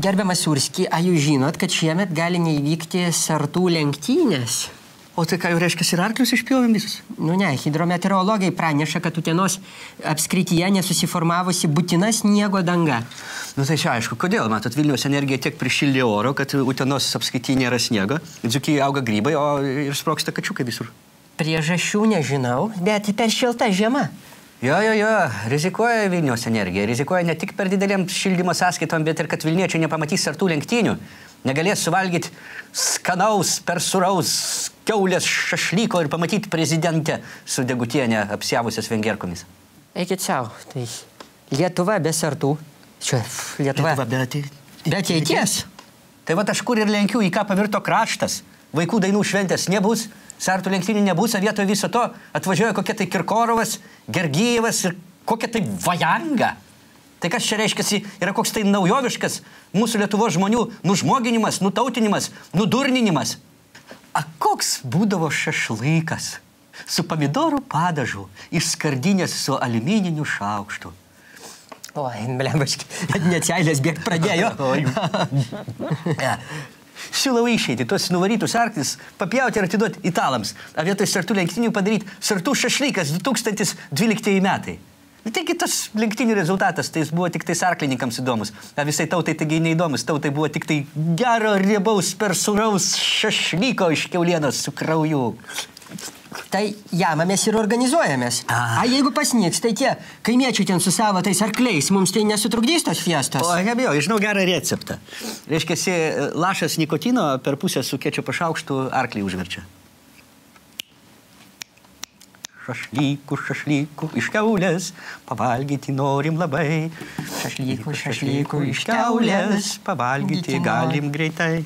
Gerbiamas Surski, ar jūs žinot, kad šiemet gali neįvykti sartų lenktynės? O tai ką jau reiškia, ir arklius išpjovėm visus? Nu ne, hidrometeorologai praneša, kad Utenos apskrityje nesusiformavusi būtina sniego danga. Nu tai čia aišku, kodėl, matot, Vilniaus energija tiek prišildė oro, kad Utenos apskrityje nėra sniego, Dzūkijoje auga grybai, o ir sprogsta kačiukai visur. Priežasčių nežinau, bet per šilta žiema. Jo, rizikuoja Vilniaus energija. Rizikuoja ne tik per didelėm šildymo sąskaitom, bet ir kad Vilniečiai nepamatys sartų lenktynių. Negalės suvalgyti skanaus, persuraus kiaulės šašlyko ir pamatyti prezidentę su Degutienė apsiavusias vengerkomis. Eikit savo, tai Lietuva be sartų. Čia Lietuva be ateities. Tai va aš kur ir lenkiu, į ką pavirto kraštas. Vaikų dainų šventės nebus, sartų lenktynių nebus, o vietoje viso to atvažiuoja kokia tai Kirkorovas, Gergijevas ir kokia tai Vajanga. Tai kas čia reiškiasi, yra koks tai naujoviškas mūsų Lietuvos žmonių nužmoginimas, nutautinimas, nudurninimas. A koks būdavo šašlykas su pomidorų padažu iš skardinės su aliumininiu šaukštu. Oi, blembaški, net seilės bėgt pradėjo. Siūlau išeiti tuos nuvarytus arklis, papjauti ir atiduoti italams, o vietoj sartų lenktynių padaryti sartų šašlykas 2012 metai. Taigi tas lenktynių rezultatas, tai jis buvo tik tais arklininkams įdomus, o visai tautai taigi neįdomus, tautai buvo tik tai gero riebaus persuraus šašlyko iš kiaulienos su krauju. Tai jamą mes ir organizuojamės. A jeigu pasniks, tai tie kaimiečiai ten su savo tais arkliais, mums tai nesutrukdys tos fiestos? O, nebijau, žinau gerą receptą. Reiškiasi, lašas nikotino per pusę su kečupo šaukštu arklį užverčia. Šašlykų iš kiaulės, pavalgyti norim labai. Šašlykų iš kiaulės, pavalgyti galim greitai.